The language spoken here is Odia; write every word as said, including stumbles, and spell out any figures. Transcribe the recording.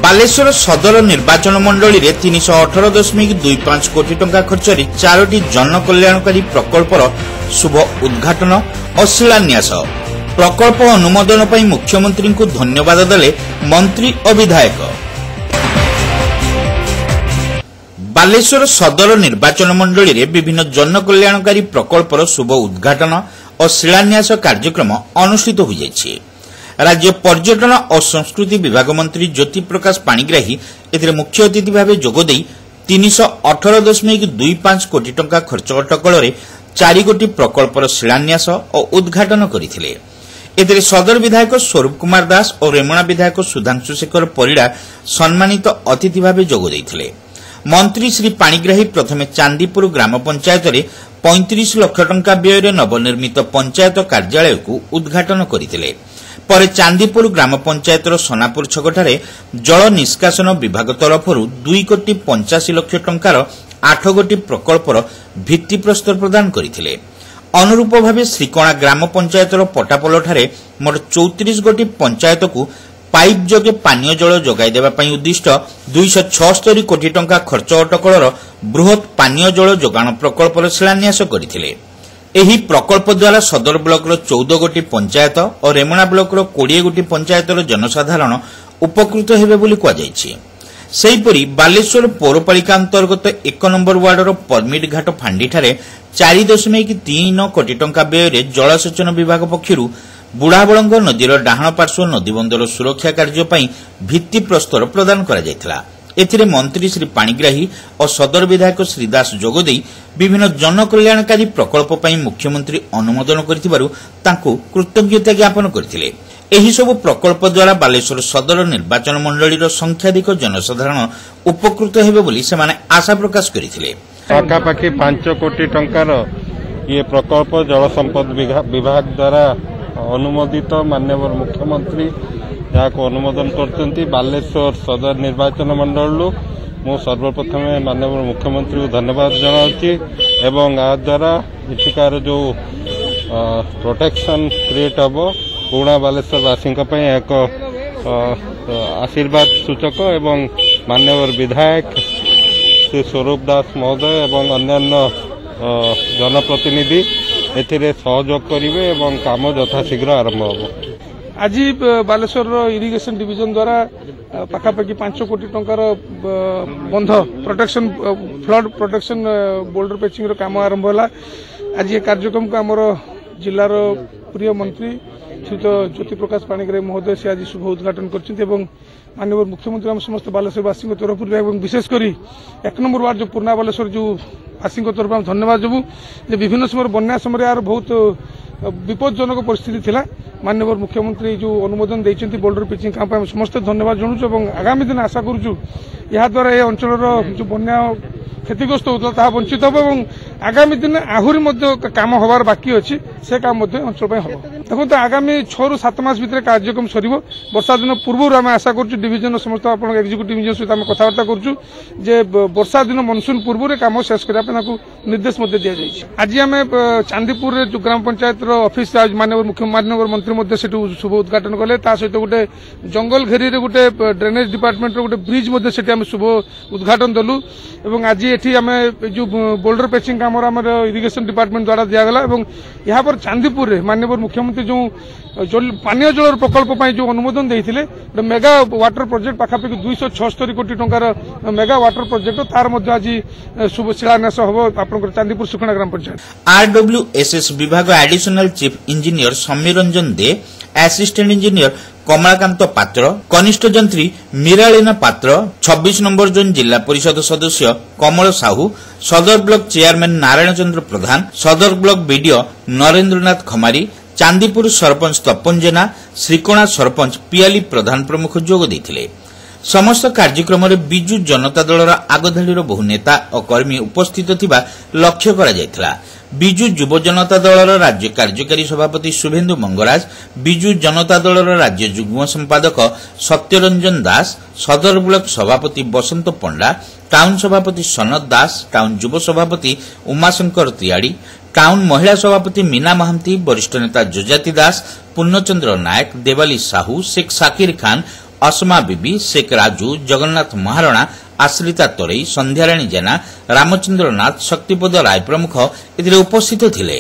ବାଲେଶ୍ୱର ସଦର ନିର୍ବାଚନ ମଣ୍ଡଳୀରେ ତିନିଶହ ଅଠର ଦଶମିକ ଦୁଇ ପାଞ୍ଚ କୋଟି ଟଙ୍କା ଖର୍ଚ୍ଚରେ ଚାରୋଟି ଜନକଲ୍ୟାଣକାରୀ ପ୍ରକଳ୍ପର ଶୁଭ ଉଦ୍ଘାଟନ ଓ ଶିଳାନ୍ୟାସ। ପ୍ରକଳ୍ପ ଅନୁମୋଦନ ପାଇଁ ମୁଖ୍ୟମନ୍ତ୍ରୀଙ୍କୁ ଧନ୍ୟବାଦ ଦେଲେ ମନ୍ତ୍ରୀ ଓ ବିଧାୟକ। ବାଲେଶ୍ୱର ସଦର ନିର୍ବାଚନ ମଣ୍ଡଳୀରେ ବିଭିନ୍ନ ଜନକଲ୍ୟାଣକାରୀ ପ୍ରକଳ୍ପର ଶୁଭ ଉଦ୍ଘାଟନ ଓ ଶିଳାନ୍ୟାସ କାର୍ଯ୍ୟକ୍ରମ ଅନୁଷ୍ଠିତ ହୋଇଯାଇଛି। ରାଜ୍ୟ ପର୍ଯ୍ୟଟନ ଓ ସଂସ୍କୃତି ବିଭାଗ ମନ୍ତ୍ରୀ ଜ୍ୟୋତିପ୍ରକାଶ ପାଣିଗ୍ରାହୀ ଏଥିରେ ମୁଖ୍ୟ ଅତିଥି ଭାବେ ଯୋଗଦେଇ ତିନିଶହ ଅଠର ଦଶମିକ ଦୁଇ ପାଞ୍ଚ କୋଟି ଟଙ୍କା ଖର୍ଚ୍ଚ ଅଟକଳରେ ଚାରିଗୋଟି ପ୍ରକଳ୍ପର ଶିଳାନ୍ୟାସ ଓ ଉଦ୍ଘାଟନ କରିଥିଲେ। ଏଥିରେ ସଦର ବିଧାୟକ ସ୍ୱରୂପ କୁମାର ଦାସ ଓ ରେମୁଣା ବିଧାୟକ ସୁଧାଂଶୁ ଶେଖର ପରିଡ଼ା ସମ୍ମାନିତ ଅତିଥି ଭାବେ ଯୋଗ ଦେଇଥିଲେ। ମନ୍ତ୍ରୀ ଶ୍ରୀ ପାଣିଗ୍ରାହୀ ପ୍ରଥମେ ଚାନ୍ଦିପୁର ଗ୍ରାମ ପଞ୍ଚାୟତରେ ପଇଁତିରିଶ ଲକ୍ଷ ଟଙ୍କା ବ୍ୟୟରେ ନବନିର୍ମିତ ପଞ୍ଚାୟତ କାର୍ଯ୍ୟାଳୟକୁ ଉଦ୍ଘାଟନ କରିଥିଲେ। ପରେ ଚାନ୍ଦିପୁର ଗ୍ରାମ ପଞ୍ଚାୟତର ସୋନାପୁର ଛକଠାରେ ଜଳ ନିଷ୍କାସନ ବିଭାଗ ତରଫରୁ ଦୁଇ କୋଟି ପଞ୍ଚାଅଶୀ ଲକ୍ଷ ଟଙ୍କାର ଆଠ ଗୋଟି ପ୍ରକଳ୍ପର ଭିତ୍ତିପ୍ରସ୍ତର ପ୍ରଦାନ କରିଥିଲେ। ଅନୁରୂପ ଭାବେ ଶ୍ରୀକଣା ଗ୍ରାମ ପଞ୍ଚାୟତର ପଟାପୋଲଠାରେ ମୋଟ ଚଉତିରିଶ ଗୋଟି ପଞ୍ଚାୟତକୁ ପାଇପ୍ ଯୋଗେ ପାନୀୟ ଜଳ ଯୋଗାଇ ଦେବା ପାଇଁ ଉଦ୍ଦିଷ୍ଟ ଦୁଇଶହ ଛଅସ୍ତରୀ କୋଟି ଟଙ୍କା ଖର୍ଚ୍ଚ ଅଟକଳର ବୃହତ୍ ପାନୀୟ ଜଳ ଯୋଗାଣ ପ୍ରକଳ୍ପର ଶିଳାନ୍ୟାସ କରିଥିଲେ। ଏହି ପ୍ରକଳ୍ପ ଦ୍ୱାରା ସଦର ବ୍ଲକର ଚଉଦ ଗୋଟି ପଞ୍ଚାୟତ ଓ ରେମୁଣା ବ୍ଲକର କୋଡ଼ିଏ ଗୋଟି ପଞ୍ଚାୟତର ଜନସାଧାରଣ ଉପକୃତ ହେବେ ବୋଲି କୁହାଯାଇଛି। ସେହିପରି ବାଲେଶ୍ୱର ପୌରପାଳିକା ଅନ୍ତର୍ଗତ ଏକ ନମ୍ବର ୱାର୍ଡର ପରମିଟ ଘାଟ ଫାଣ୍ଡିଠାରେ ଚାରି ଦଶମିକ ତିନି ନଅ କୋଟି ଟଙ୍କା ବ୍ୟୟରେ ଜଳସେଚନ ବିଭାଗ ପକ୍ଷରୁ ବୁଢ଼ାବଳଙ୍ଗ ନଦୀର ଡାହାଣ ପାର୍ଶ୍ୱ ନଦୀବନ୍ଧର ସୁରକ୍ଷା କାର୍ଯ୍ୟ ପାଇଁ ଭିତ୍ତିପ୍ରସ୍ତର ପ୍ରଦାନ କରାଯାଇଥିଲା। ଏଥିରେ ମନ୍ତ୍ରୀ ଶ୍ରୀ ପାଣିଗ୍ରାହୀ ଓ ସଦର ବିଧାୟକ ଶ୍ରୀ ଦାସ ଯୋଗଦେଇ ବିଭିନ୍ନ ଜନକଲ୍ୟାଣକାରୀ ପ୍ରକଳ୍ପ ପାଇଁ ମୁଖ୍ୟମନ୍ତ୍ରୀ ଅନୁମୋଦନ କରିଥିବାରୁ ତାଙ୍କୁ କୃତଜ୍ଞତା ଜ୍ଞାପନ କରିଥିଲେ। ଏହିସବୁ ପ୍ରକଳ୍ପ ଦ୍ୱାରା ବାଲେଶ୍ୱର ସଦର ନିର୍ବାଚନ ମଣ୍ଡଳୀର ସଂଖ୍ୟାଧିକ ଜନସାଧାରଣ ଉପକୃତ ହେବେ ବୋଲି ସେମାନେ ଆଶା ପ୍ରକାଶ କରିଥିଲେ। ପାଖାପାଖି ପାଞ୍ଚ କୋଟି ଟଙ୍କାର ଇଏ ପ୍ରକଳ୍ପ ଜଳ ସମ୍ପଦ ବିଭାଗ ଦ୍ୱାରା ଅନୁମୋଦିତ, ମାନ୍ୟବର ମୁଖ୍ୟମନ୍ତ୍ରୀ ଯାହାକୁ ଅନୁମୋଦନ କରିଛନ୍ତି। ବାଲେଶ୍ୱର ସଦର ନିର୍ବାଚନ ମଣ୍ଡଳୀରୁ ମୁଁ ସର୍ବପ୍ରଥମେ ମାନ୍ୟବର ମୁଖ୍ୟମନ୍ତ୍ରୀଙ୍କୁ ଧନ୍ୟବାଦ ଜଣାଉଛି ଏବଂ ଏହାଦ୍ୱାରା ଏଠିକାର ଯେଉଁ ପ୍ରୋଟେକ୍ସନ୍ କ୍ରିଏଟ୍ ହେବ, ପୁରୁଣା ବାଲେଶ୍ୱରବାସୀଙ୍କ ପାଇଁ ଏକ ଆଶୀର୍ବାଦ ସୂଚକ। ଏବଂ ମାନ୍ୟବର ବିଧାୟକ ଶ୍ରୀ ସ୍ୱରୂପ ଦାସ ମହୋଦୟ ଏବଂ ଅନ୍ୟାନ୍ୟ ଜନପ୍ରତିନିଧି ଏଥିରେ ସହଯୋଗ କରିବେ ଏବଂ କାମ ଯଥାଶୀଘ୍ର ଆରମ୍ଭ ହେବ। ଆଜି ବାଲେଶ୍ୱରର ଇରିଗେସନ ଡିଭିଜନ ଦ୍ୱାରା ପାଖାପାଖି ପାଞ୍ଚ କୋଟି ଟଙ୍କାର ବନ୍ଧ ପ୍ରୋଟେକ୍ସନ, ଫ୍ଲଡ୍ ପ୍ରୋଟେକ୍ସନ ବୋଲ୍ଡର ପେଚିଂର କାମ ଆରମ୍ଭ ହେଲା। ଆଜି ଏ କାର୍ଯ୍ୟକ୍ରମକୁ ଆମର ଜିଲ୍ଲାର ପ୍ରିୟ ମନ୍ତ୍ରୀ ଶ୍ରୀଯୁକ୍ତ ଜ୍ୟୋତିପ୍ରକାଶ ପାଣିଗ୍ରାହୀ ମହୋଦୟ ସେ ଆଜି ଶୁଭ ଉଦ୍ଘାଟନ କରିଛନ୍ତି ଏବଂ ମାନ୍ୟବର ମୁଖ୍ୟମନ୍ତ୍ରୀ ଆମ ସମସ୍ତ ବାଲେଶ୍ୱରବାସୀଙ୍କ ତରଫରୁ ଏବଂ ବିଶେଷ କରି ଏକ ନମ୍ବର ୱାର୍ଡ ଯେଉଁ ପୁରୁଣା ବାଲେଶ୍ୱର ଯେଉଁ ବାସୀଙ୍କ ତରଫରୁ ଆମେ ଧନ୍ୟବାଦ ଦେବୁ ଯେ ବିଭିନ୍ନ ସମୟରେ ବନ୍ୟା ସମୟରେ ଏହାର ବହୁତ ବିପଜ୍ଜନକ ପରିସ୍ଥିତି ଥିଲା। ମାନ୍ୟବର ମୁଖ୍ୟମନ୍ତ୍ରୀ ଯେଉଁ ଅନୁମୋଦନ ଦେଇଛନ୍ତି ବୋଲ୍ଡର ପିଚିଂ କାମ ପାଇଁ, ଆମେ ସମସ୍ତେ ଧନ୍ୟବାଦ ଜଣାଉଛୁ ଏବଂ ଆଗାମୀ ଦିନ ଆଶା କରୁଛୁ ଏହାଦ୍ୱାରା ଏ ଅଞ୍ଚଳର ଯେଉଁ ବନ୍ୟା କ୍ଷତିଗ୍ରସ୍ତ ହେଉଥିଲା ତାହା ବଞ୍ଚିତ ହେବ ଏବଂ ଆଗାମୀ ଦିନେ ଆହୁରି ମଧ୍ୟ କାମ ହେବାର ବାକି ଅଛି, ସେ କାମ ମଧ୍ୟ ଅଞ୍ଚଳ ପାଇଁ ହେବ। ଦେଖନ୍ତୁ, ଆଗାମୀ ଛଅରୁ ସାତ ମାସ ଭିତରେ କାର୍ଯ୍ୟକ୍ରମ ସରିବ। ବର୍ଷା ଦିନ ପୂର୍ବରୁ ଆମେ ଆଶା କରୁଛୁ, ଡିଭିଜନର ସମସ୍ତ ଆପଣଙ୍କ ଏକ୍ଜିକ୍ୟୁଟିଭ୍ ଇଞ୍ଜିନିୟର ସହିତ ଆମେ କଥାବାର୍ତ୍ତା କରୁଛୁ ଯେ ବର୍ଷା ଦିନ ମନସୁନ ପୂର୍ବରୁ କାମ ଶେଷ କରିବା ପାଇଁ ତାଙ୍କୁ ନିର୍ଦ୍ଦେଶ ମଧ୍ୟ ଦିଆଯାଇଛି। ଆଜି ଆମେ ଚାନ୍ଦିପୁରରେ ଯେଉଁ ଗ୍ରାମ ପଞ୍ଚାୟତର ଅଫିସ, ମାନ୍ୟବର ମୁଖ୍ୟ ମାନ୍ୟବର ମନ୍ତ୍ରୀ ମଧ୍ୟ ସେଠୁ ଶୁଭ ଉଦ୍ଘାଟନ କଲେ। ତା ସହିତ ଗୋଟେ ଜଙ୍ଗଲ ଘେରିରେ ଗୋଟେ ଡ୍ରେନେଜ ଡିପାର୍ଟମେଣ୍ଟର ଗୋଟେ ବ୍ରିଜ୍ ମଧ୍ୟ ସେଠି ଆମେ ଶୁଭ ଉଦ୍ଘାଟନ ଦେଲୁ ଏବଂ ଆଜି ଏଠି ଆମେ ଯେଉଁ ବୋଲ୍ଡର ପେଚିଂ କାମର ଆମର ଇରିଗେସନ ଡିପାର୍ଟମେଣ୍ଟ ଦ୍ୱାରା ଦିଆଗଲା। ଏବଂ ଏହାପରେ ଚାନ୍ଦିପୁରରେ ମାନ୍ୟବର ମୁଖ୍ୟମନ୍ତ୍ରୀ ଯେଉଁ ପାନୀୟ ଜଳର ପ୍ରକଳ୍ପ ପାଇଁ ଯେଉଁ ଅନୁମୋଦନ ଦେଇଥିଲେ, ଗୋଟେ ମେଗା ୱାଟର ପ୍ରୋଜେକ୍ଟ, ପାଖାପାଖି ଦୁଇଶହ ଛଅସ୍ତରୀ କୋଟି ଟଙ୍କାର ମେଗା ୱାଟର ପ୍ରୋଜେକ୍ଟ, ତାର ମଧ୍ୟ ଆଜି ଶୁଭ ଶିଳାନ୍ୟାସ ହେବ ଆପଣଙ୍କର ଚାନ୍ଦିପୁର ସୁଖଣା ଗ୍ରାମ ପଞ୍ଚାୟତ। ଆରଡବ୍ଲ୍ୟୁଏସ୍ଏସ୍ ବିଭାଗ additional chief engineer Samir Ranjan De, assistant engineer Kamalakanta Patra, କନିଷ୍ଠ ଯନ୍ତ୍ରୀ ମୀରାଳିନା ପାତ୍ର, ଛବିଶ ନମ୍ବର ଜୋନ୍ ଜିଲ୍ଲା ପରିଷଦ ସଦସ୍ୟ କମଳ ସାହୁ, ସଦର ବ୍ଲକ ଚେୟାରମ୍ୟାନ୍ ନାରାୟଣ ଚନ୍ଦ୍ର ପ୍ରଧାନ, ସଦର ବ୍ଲକ ବିଡିଓ ନରେନ୍ଦ୍ରନାଥ ଖମାରୀ, ଚାନ୍ଦିପୁର ସରପଞ୍ଚ ତପନ ଜେନା, ଶ୍ରୀକଣା ସରପଞ୍ଚ ପିଆଲି ପ୍ରଧାନ ପ୍ରମୁଖ ଯୋଗ ଦେଇଥିଲେ। ସମସ୍ତ କାର୍ଯ୍ୟକ୍ରମରେ ବିଜୁ ଜନତା ଦଳର ଆଗଧାଡ଼ିର ବହୁ ନେତା ଓ କର୍ମୀ ଉପସ୍ଥିତ ଥିବା ଲକ୍ଷ୍ୟ କରାଯାଇଥିଲା। ବିଜୁ ଯୁବ ଜନତା ଦଳର ରାଜ୍ୟ କାର୍ଯ୍ୟକାରୀ ସଭାପତି ଶୁଭେନ୍ଦୁ ମଙ୍ଗରାଜ, ବିଜୁ ଜନତା ଦଳର ରାଜ୍ୟ ଯୁଗ୍ମ ସମ୍ପାଦକ ସତ୍ୟରଞ୍ଜନ ଦାସ, ସଦର ବ୍ଲକ ସଭାପତି ବସନ୍ତ ପଣ୍ଡା, ଟାଉନ ସଭାପତି ସନତ ଦାସ, ଟାଉନ ଯୁବ ସଭାପତି ଉମାଶଙ୍କର ତିଆଡ଼ି, ଟାଉନ ମହିଳା ସଭାପତି ମୀନା ମହାନ୍ତି, ବରିଷ୍ଠ ନେତା ଯଯାତି ଦାସ, ପୂର୍ଣ୍ଣଚନ୍ଦ୍ର ନାୟକ, ଦେବାଲି ସାହୁ, ଶେଖ ସାକିର ଖାନ, ଅସମା ବିବି, ଶେଖ ରାଜୁ, ଜଗନ୍ନାଥ ମହାରଣା, ଆଶ୍ରିତା ତରେଇ, ସନ୍ଧ୍ୟାରାଣୀ ଜେନା, ରାମଚନ୍ଦ୍ର ନାଥ, ଶକ୍ତିପଦ ରାୟ ପ୍ରମୁଖ ଏଥିରେ ଉପସ୍ଥିତ ଥିଲେ।